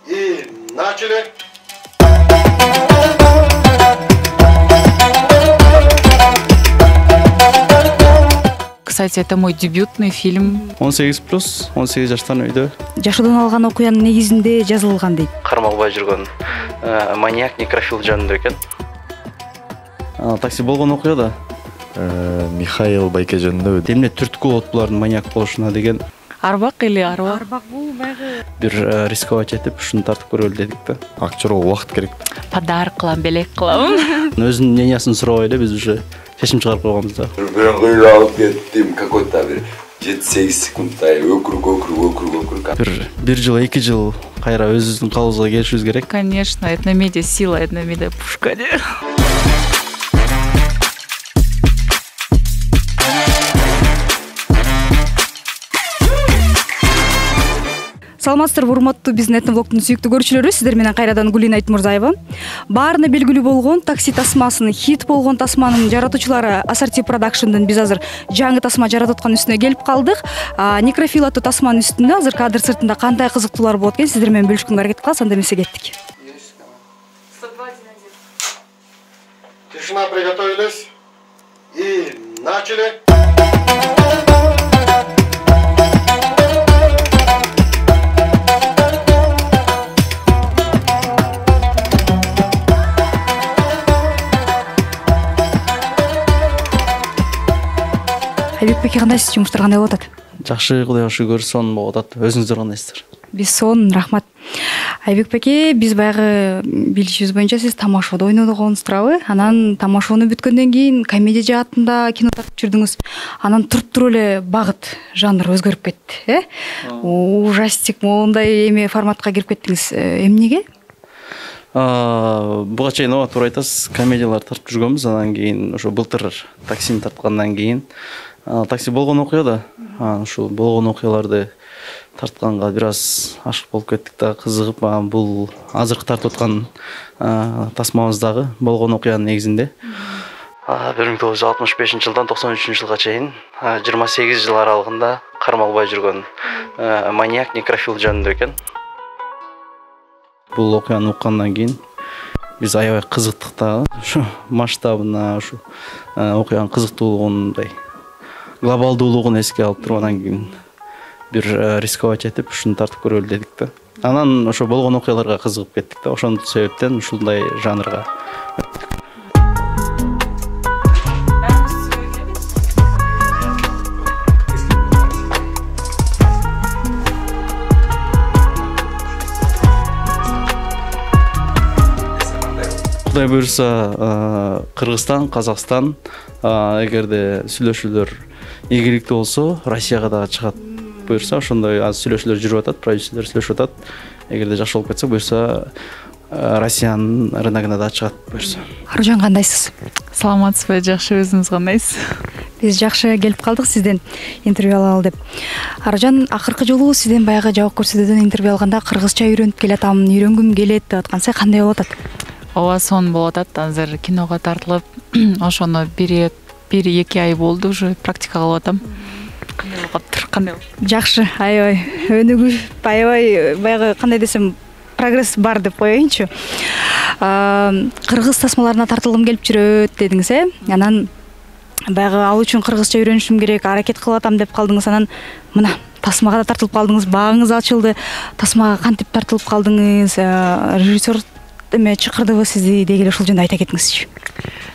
И начали. Кстати, это мой дебютный фильм. 18+, 18 жаштан үйдө. Жашоодон алган окуянын негизинде жазылган дейт. Кармалбай жүргөн маньяк некрофил жөнүндө экен. Такси болгон окуяда Михаил Байке жөнүндө. Эмне түрткү болот булардын маньяк болушуна деген. Арбак или арбак? Арбак бул байгы. Бир рисковать этип, ушуну тартып көрөлү дедик да. Акчарга убакыт керек. Подарок кылам, белек кылам. Өзүнүн мнениясын сурабай эле биз уже чечим чыгарып койгонбуз да. Бирок ыйлап кеттим, какой-то бир 7-8 секундтай өкүрүк. Бир жыл, 2 жыл кайра өзүбүздүн калыбыбызга келишибиз керек. Конечно, этномедиа сила, этномедиа пушка. Саламатсыздарбы, урматтуу биздин этновлогдун сүйүктүү көрүүчүлөрү, сиздер менен кайрадан Гулина Айтмурзаева. Баарына белгилүү болгон такси тасмасынын хит болгон тасманын жаратуучулары Assorti Production'дан биз азыр жаңы тасма жаратып аткан үстүнө келип калдык. Некрофил аттуу тасманын үстүндө азыр кадр сыртында кандай кызыктуулар болот экен, сиздер менен бөлүшкөнгө аракет кылабыз. Анда эмесе кеттик. Тишина, приготовились. И начали. Айбекбеке, кандайсыз? Жумуштар кандай болуп атат? Жакшы, Кудайга шүгүр, сонун болуп атат. Өзүңүздөр кандайсыздар? Биз сонун, рахмат. Айбекбеке, биз баягы билишибиз боюнча сиз тамашоодо ойнодугуңуз турабы? Анан тамашоону бүткөндөн кийин комедия жаатында кино тартып жүрдүңүз. Анан туруп эле багыт, жанр өзгөрүп кетти, Ужастик моундай эме форматка кирип кеттиңиз. Эмнеге? Буга чейин туура айтасыз, комедиялар тартып жүргөнбүз. Анан кийин ошо былтыр таксини тарткандан кийин такси болгон окуяда ушул болгон окуяларды тартканга бир аз ашык болуп кеттик да, кызыгып. Бул азыркы тартып аткан тасмабыз дагы болгон окуянын негизинде 1965-жылдан 93-жылга чейин 28 жыл аралыгында кармалбай жүргөн маньяк некрофил жөнүндө экен. Бул окуяны уккандан кийин биз аябай кызыктык да, ушу масштабына, ушу окуянын кызыктуулугундай глобалдуулугун эске алып туруп, анан кийин бир рисковать этип, ушуну тартып көрөлү дедик да. Анан ошо болгон окуяларга кызыгып кеттик да, ошондун себептен ушундай жанрга өттүк. Кудай буюрса, Кыргызстан, Казакстан, эгерде сүйлөшүүлөр ийгиликтүү болсо, Россияга дагы чыгат буюрса, ошондой аз сүйлөшүүлөр жүрүп атат, продюсерлер сүйлөшүп атат. Эгерде жакшы болуп кетсе, буюрса Россиянын рыногуна дагы чыгат буюрса. Аружан, кандайсыз? Саламатсызбы, жакшы, өзүңүз кандайсыз? Биз жакшы келип калдык сизден интервью алалы деп. Аружан, акыркы жолу сизден баягы жабык көрсөтүүдөн интервью алганда кыргызча үйрөнүп келатам, үйрөнгүм келет деп аткансыз, кандай болуп атат? Ооба, сонун болуп атат. Азыр киного тартылып, ошону 1-2 ай болду, уже практика кылып атам. Кандай болуп? Жакшы, аябай өнүгүү, аябай баягы кандай десем, прогресс бар деп коеюнчу. Кыргыз тасмаларына тартылгым келип жүрөт дедиңиз, Анан баягы ал үчүн кыргызча үйрөнүшүм керек, аракет кылып атам деп калдыңыз. Анан мына тасмага да тартылып калдыңыз, багыңыз ачылды. Тасмага кантип тартылып калдыңыз? Режиссер эме чакырдыбы сизди дегеле, ушул жөнүндө айта кетиңизчи.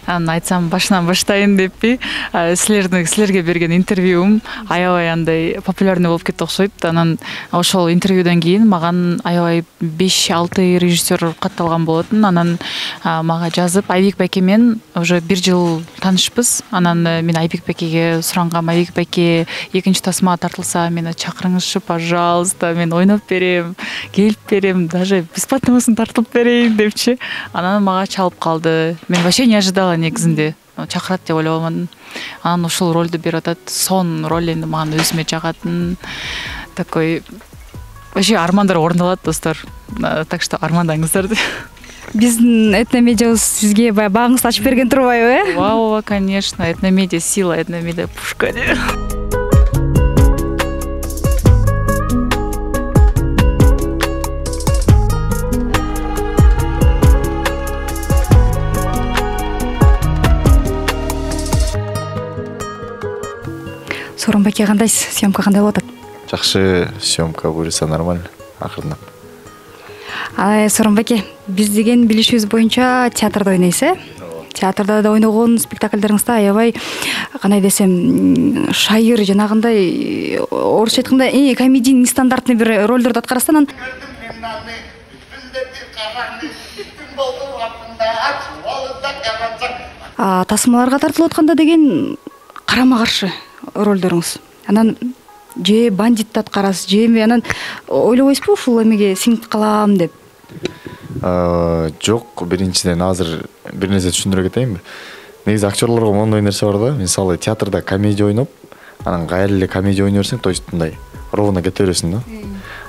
Айтсам башынан баштайын деппи, силерге берген интервьюм аябай андай популярный болуп кетти окшойт. Анан ошол интервьюдан кийин маган аябай 5-6 режиссер катталган болотун. Анан мага жазып, Айбекбеке менен уже 1 жыл таанышпыз. Анан мен Айбекбекеге сурангам, Айбекбеке, экинчи тасма тартылса мени чакырыңызчы, пожалуйста, мен ойноп берем, келип берем, даже бесплатныйсын тартылып берейин депчи. Анан мага чалып калды. Мен вообще не ожидала негизинде. Чакырат деп ойлобомун. Анан ушул ролду берип атат. Сон роль энди мага өзүмө жагатын. Такой вообще армандар орундалат, достор. Так что армандаңыздар. Биздин этномедиабыз сизге баягы багыңызды ачып берген турбайбы, Ооба, конечно. Этномедиа сила, этномедиа пушка. Сооронбай аке кандайсыз? Съемка кандай болуп атат? Жакшы, съемка буюрса нормально. Акырындап. Сооронбай аке, биз деген билишибиз боюнча театрда ойнойсуз, Театрда да ойногон спектакльдериңизде аябай кандай десем, шайыр жанагындай орусча айтканда комедийный нестандартный бир ролдорду аткарасыз. Анан тасмаларга тартылып атканда деген карама каршы ролдоруңуз. Анан же бандитти аткарасыз, же анан ойлобойсузбу ушул эмеге сиңип калам деп? Жок, биринчиден азыр бир нерсе түшүндүрө кетейинби? Негизи актерлорго моундай нерсе бар да. Мисалы театрда комедия ойноп, анан кайра эле комедия ойной берсең, то есть мындай ровно кете бересиң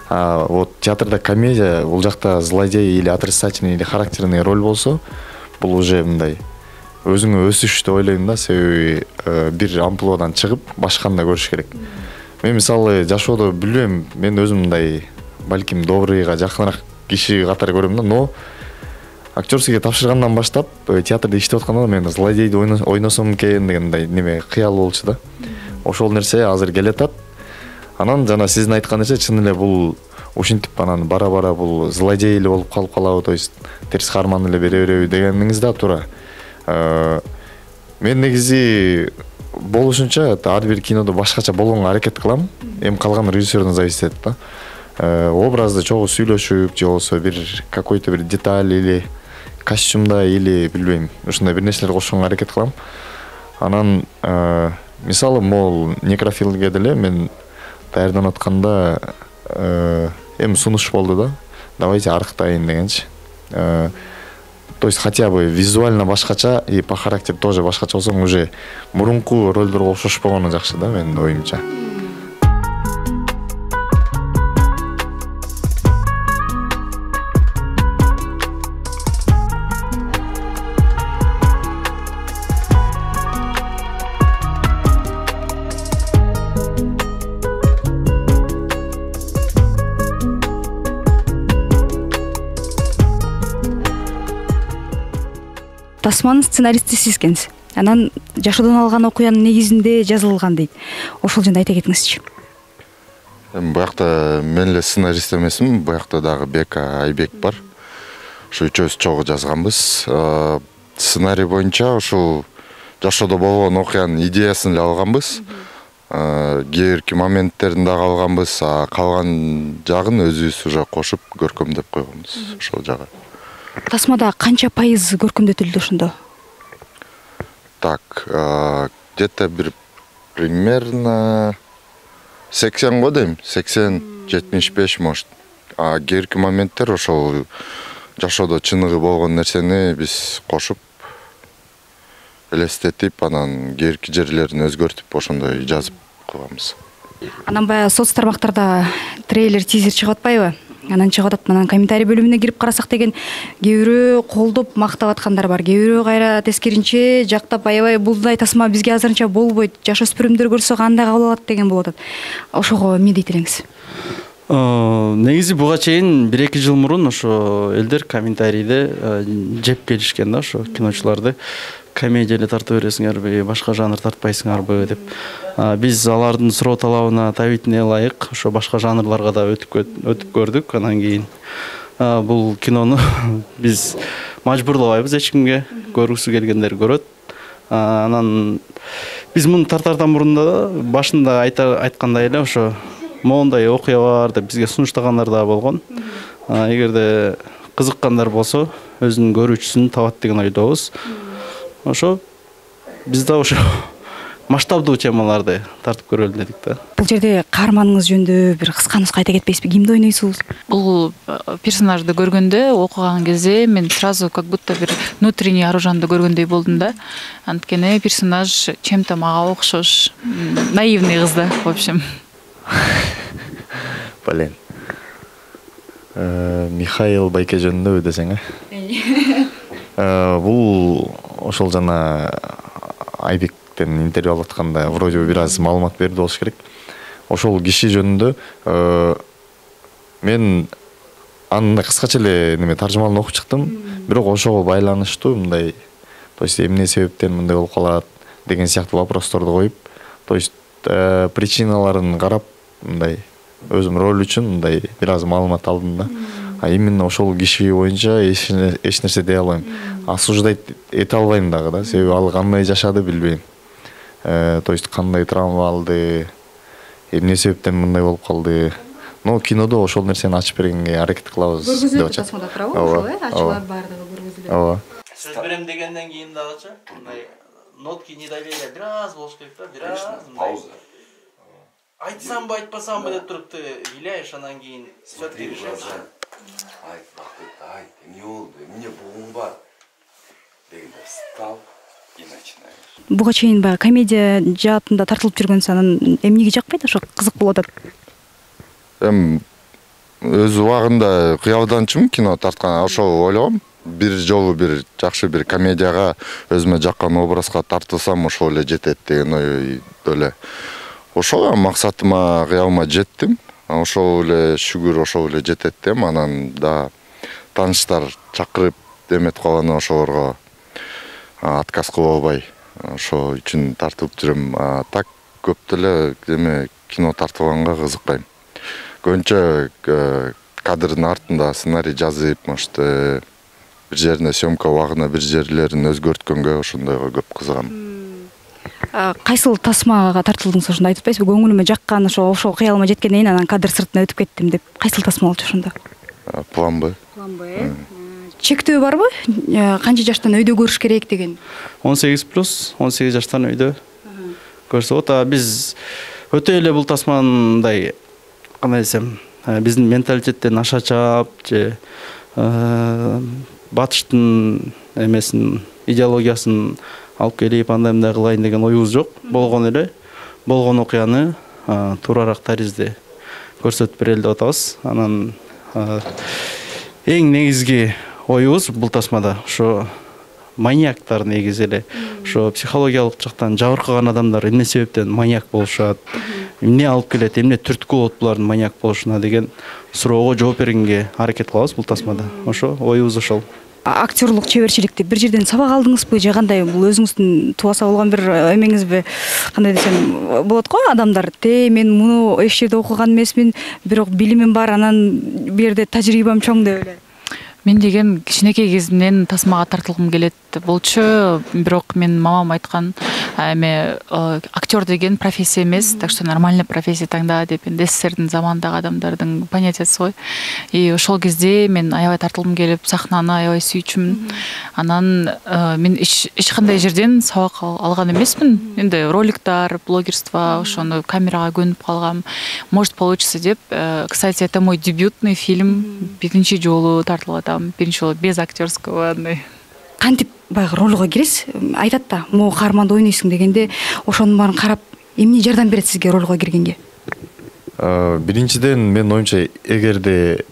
да. Вот театрда комедия, бул жакта злодей или отрицательный или характерный роль болсо, бул уже мындай өзүңө өсүш деп ойлойм да. Себеби бир амплуадан чыгып башканы көрүш керек. Мен мисалы жашоодо билбейм, мен өзүм мындай балким добрыйга жакыныраак киши катары көрөм да, но актерскийге тапшыргандан баштап театрда иштеп атканда мен злодейди ойносом экен деген мындай неме кыял болчу да. Ошол нерсе азыр келатат. Анан жана сиздин айткан нерсе чын эле бул ушинтип анан бара-бара бул злодей эле болуп калып калабы, то есть терс каарман эле бере береби дегениңиз да туура. Мен негизи болушунча ар бир кинодо башкача болгонго аракет кылам. Эми калган режиссерден зависит этет да. Образды чогуу сүйлөшүп, же болбосо бир какой-то бир деталь или костюмда или билбейм, ушундай бир нерселер кошконго аракет кылам. Анан мисалы могул некрофилге деле мен даярданып атканда эми сунуш болду да. Давайте арыктайын дегенчи. То есть хотя бы визуально башкача и по характеру тоже башкача болсоң уже мурунку ролдорго окшошпогону жакшы да, менин оюмча. Тасманын сценаристи сиз экенсиз. Анан жашоодон алган окуянын негизинде жазылган дейт. Ошол жөнүндө айта кетиңизчи. Буякта мен эле сценарист эмесмин, буякта дагы Бека Айбек бар. Ошо үчөөбүз чогуу жазганбыз. Сценарий боюнча ушул жашоодо болгон окуянын идеясын эле алганбыз. Кээ бирки моменттерин дагы алганбыз, калган жагын өзүбүз уже кошуп көркөмдөп койгонбуз ошол жагы. Тасмада канча пайыз көркөмдөтүлдү ошондо? Так, где-то бир примерно 80 го дейм, 80-75 может. Кээ бирки моменттер ошол жашоодо чыныгы болгон нерсени биз кошуп элестетип, анан кээ бирки жерлерин өзгөртүп ошондой жазып койгонбуз. Анан баягы соц тармактарда трейлер, тизер чыгып атпайбы? Анан чыгып атат, анан комментарий бөлүмүнө кирип карасак деген кээ бирөө колдоп мактап аткандар бар. Кээ бирөө кайра тескеринче жактап аябай булдай тасма бизге азырынча болбойт, жашөспүрүмдөр көрсө кандай кабыл алат деген болуп атат. Ошого эмне дейт элеңиз? Негизи буга чейин 1-2 жыл мурун ошо элдер комментарийде жеп келишкен да, ошо киночуларды комедия эле тарта бересиңерби, башка жанр тартпайсыңарбы деп. Биз алардын суроо талабына табитине ылайык ошо башка жанрларга да өтүп көрдүк. Анан кийин бул кинону биз мажбурлабайбыз эч кимге, көргүсү келгендер көрөт. Анан биз муну тартардан мурун да башында айткандай эле ошо моундай окуя бар деп бизге сунуштагандар да болгон. Эгерде кызыккандар болсо өзүнүн көрүүчүсүн табат деген ойдобуз. Ошо биз да ошо масштабдуу темаларды тартып көрөлү дедик да. Бул жерде каарманыңыз жөнүндө бир кыска нуска айта кетпейсизби? Кимди ойнойсуз? Бул персонажды көргөндө, окуган кезде мен сразу как будто бир внутренний Аружанды көргөндөй болдум да. Анткени персонаж чем-то мага окшош, наивный кыз да, в общем. Блин. Михаил Байке жөнүндө десең, бул ошол жана Айбектен интервью алып атканда вроде бир аз маалымат берди болуш керек. Ошол киши жөнүндө мен аны кыскача эле неме таржымалын окуп чыктым, бирок ошого байланыштуу мындай, то есть эмне себептен мындай болуп калат деген сыяктуу вопросторду коюп, то есть причиналарын карап мындай өзүм роль үчүн мындай бир аз маалымат алдым да. А именно ошол киши боюнча эч нерсе дей албайм. Осуждать эте албайм дагы да, себеби ал кандай жашады билбейм. То есть кандай травма алды, эмне себептен мындай болуп калды. Но кинодо ошол нерсени ачып бергенге аракет кылабыз деп атышат. Тасмада турабы ошол ачылат баардыгы көргөзүлөт. Ооба. Сөз берем дегенден кийин дагычы мындай нотки недоверия бир аз болуш керек да, бир аз Пауза. айтсамбы айтпасамбы деп туруп ыйлайш, анан кийин Смотри, Равшан. Айт, айт, эмне болду, эмне бугуң бар? Дегенде встал и начинаешь. Буга чейин баягы комедия жаатында тартылып жүргөнсүң, анан эмнеге жакпайт, ошо кызык болуп атат. Өз убагында кыялданчымын кино тарткан, ошол ойлогом. Бир жолу бир жакшы бир комедияга өзүмө жаккан образга тартылсам ошол эле жетет деген ойдо эле. Ошол максатыма, кыялыма жеттим. Ошол эле шүгүр ошол эле жетет дем. Анан да тааныштар чакырып эметип калган ошолорго отказ кылып албай ошол үчүн тартып жүрөм. Так көп деле эме кино тартылганга кызыкпайм. Көбүнчө кадрдын артында сценарий жазып, может бир жерине съемка убагына бир жерлерин өзгөрткөнгө ошондойго көп кызыгам. Кайсыл тасмага тартылдыңыз ошондо айтып атпайсызбы? Көңүлүмө жаккан ошол кыялыма жеткенден кийин анан кадр сыртына өтүп кеттим деп. Кайсыл тасма болчу ошондо? План Б. План Б. Чектөө барбы? Канча жаштан өйдө көрүш керек деген? 18+, 18 жаштан өйдө көрсө болот. Биз өтө эле бул тасмандай кандай десем, биздин менталитеттен аша чаап же батыштын эмесин, идеологиясын алып келип андай мындай кылайын деген оюбуз жок. Болгон эле, болгон окуяны туураарак таризде көрсөтүп берели деп атабыз. Анан эң негизги оюбуз бул тасмада ошо маньяктар негизи эле. Ошо психологиялык жактан жабыркаган адамдар эмне себептен маньяк болушат, эмне алып келет, эмне түрткү болот булардын маньяк болушуна деген суроого жооп бергенге аракет кылабыз бул тасмада. Ошо оюбуз ошол. Актерлук чеберчиликти бир жерден сабак алдыңызбы же кандай? Бул өзүңүздүн тубаса болгон бир эмеңизби? Кандай десем болот го, адамдар мен муну эч жерде окуган эмесмин, бирок билимим бар, анан бу жерде тажрыйбам чоң деп эле. Мен деген кичинекей кезимден тасмага тартылгым келет болчу, бирок мен мамам айткан, эме актер деген профессия эмес, так что нормальный профессия таңда деп, энди СССРдин заманындагы адамдардын понятиясы го. И ошол кезде мен аябай тартылгым келип, сахнаны аябай сүйчүмүн. Анан мен эч кандай жерден сабак алган эмесмин. Энди роликтар, блогерство, ошону камерага көнүп калгам. Может получится деп. Кстати, это мой дебютный фильм. Биринчи жолу тартылып атам. Биринчи жолу без актерского андай. Кантип баягы ролго киресиз? Айтат да, могу каарманды ойнойсуң дегенде, ошонун баарын карап, эмне жардам берет сизге ролго киргенге? Биринчиден мен оюмча, эгерде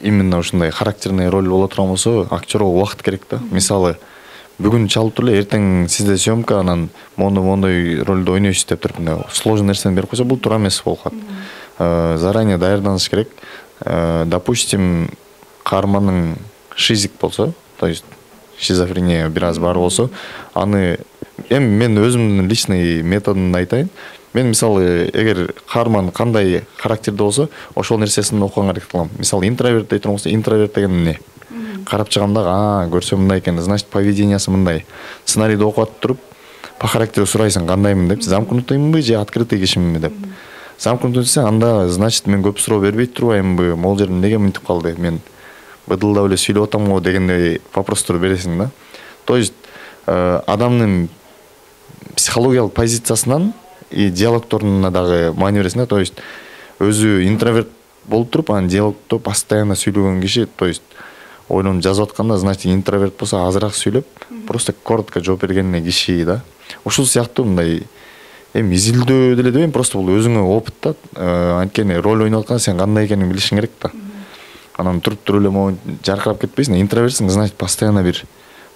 именно ушундай характерный роль боло турган болсо, актерго убакыт керек да. Мисалы, бүгүн чалып туруп эле, эртең сизде съемка, анан мондой ролду ойнойсуз деп туруп, сложный нерсени берип койсо, бул туура эмес болуп калат. Заранее даярданыш керек. Допустим, каармандын шизик болсо, то есть шизофрения бир аз бар болсо, аны эми мен өзүмдүн личный методун айтайын. Мен мисалы, эгер каарман кандай характерде болсо, ошол нерсесин окуганга аракет кылам. Мисалы, интроверт дей турган болсо, интроверт деген эмне? Карап чыгамда, көрсөм мындай экен, значит, поведениясы мындай. Сценарийди окуп атып туруп, по характеру сурайсың, кандаймын деп, замкнутыймынбы же открытый кишиминби деп. Замкнутый десең, анда, значит, мен көп суроо бербей турбаймынбы, могул жерде эмнеге мынтип калды, мен быдылдап эле сүйлөп атам го дегендей вопростор бересиң да. То есть адамдын психологиялык позициясынан и диалогторуна дагы маани бересиң да. То есть өзү интроверт болуп туруп, анан диалогто постоянно сүйлөгөн киши, то есть ойлонуп жазып атканда, значит, интроверт болсо азыраак сүйлөп, просто коротко жооп берген киши да. Ушул сыяктуу мындай эми изилдөө деле дебейм, просто бул өзүңө опыт да. Анткени роль ойноп атканда сен кандай экенин билишиң керек да. Анан туруп эле могу жаркырап кетпейсиң. Интровертсиң, значит, постоянно бир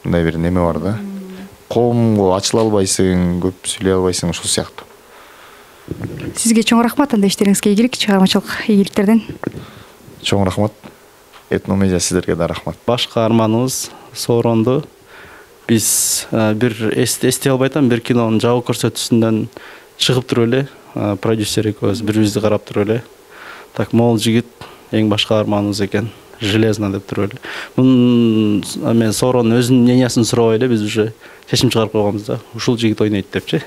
мындай бир неме бар да. Коомго ачыла албайсың, көп сүйлөй албайсың, ушул сыяктуу. Сизге чоң рахмат, анда иштериңизге ийгилик, чыгармачылык ийгиликтерден. Чоң рахмат. Этномедиа сиздерге да рахмат. Башкы арманыбыз сооронду биз бир эстей албай атам, бир кинонун жабык көрсөтүүсүндөн чыгып туруп эле продюсер экөөбүз бири бирибизди карап туруп эле так могул жигит эң башкы арманыбыз экен железно деп туруп эле мунун эме сооронун өзүнүн мнениясын сурабай эле биз уже чечим чыгарып койгонбуз да ушул жигит ойнойт депчи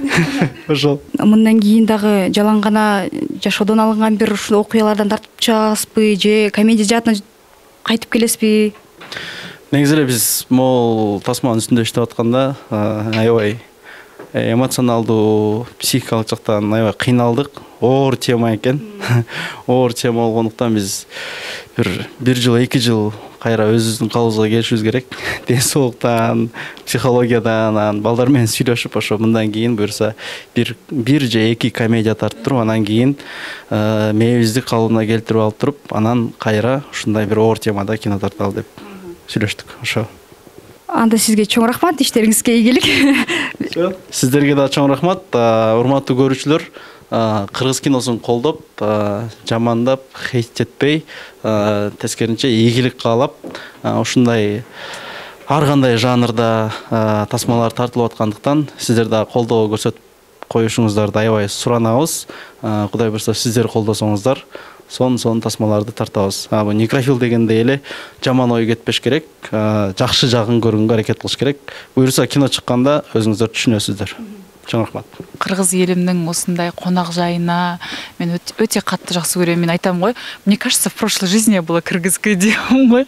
ошол. Мындан кийин дагы жалаң гана жашоодон алынган бир ушул окуялардан тартып чыгасызбы же комедия жаатына кайтып келесизби? Негизи эле биз могул тасманын үстүндө иштеп атканда аябай эмоционалдуу психикалык жактан аябай кыйналдык. Оор тема экен. Оор тема болгондуктан биз бир жыл 2 жыл кайра өзүбүздүн калыбыбызга келишибиз керек. Ден соолуктан, психологиядан, балдар менен сүйлөшүп ошо мындан кийин буюрса бир же 2 комедия тартып туруп, анан кийин мээбизди калыбына келтирип алып туруп, анан кайра ушундай бир оор темада кино тарталы деп сүйлөштүк. Ошо. Анда сизге чоң рахмат, иштериңизге ийгилик. Сиздерге да чоң рахмат. Урматтуу көрүүчүлөр, кыргыз киносун колдоп, жамандап, хейт этпей, тескерисинче ийгилик каалап, ушундай ар кандай жанрда тасмалар тартылып аткандыктан сиздер да колдоо көрсөтүп коюшуңуздарды аябай суранабыз. Кудай буюрса сиздер колдосоңуздар, сон тасмаларды тартабыз. Бул некрофил дегендей эле жаман ой кетпеш керек, жакшы жагын көргөнгө аракет кылыш керек. Буюрса кино чыкканда өзүңүздөр түшүнөсүздөр. Чоң рахмат. Кыргыз элимдин осундай конак жайына мен өтө катты жакшы көрөм. Мен айтам го, мне кажется, в прошлой жизни я была кыргызской дейм го.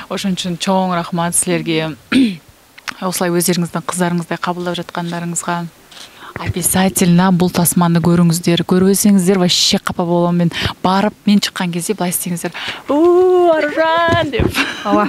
Ошон үчүн чоң рахмат силерге. Осылай өздөрүңүздүн кыздарыңыздай кабылдап жаткандарыңызга. Обязательно бул тасманы көрүңүздөр. Көрбөсөңүздөр вообще капа болом. Мен барып, мен чыккан кезде былай истеңиздер. Аружан деп. Ооба.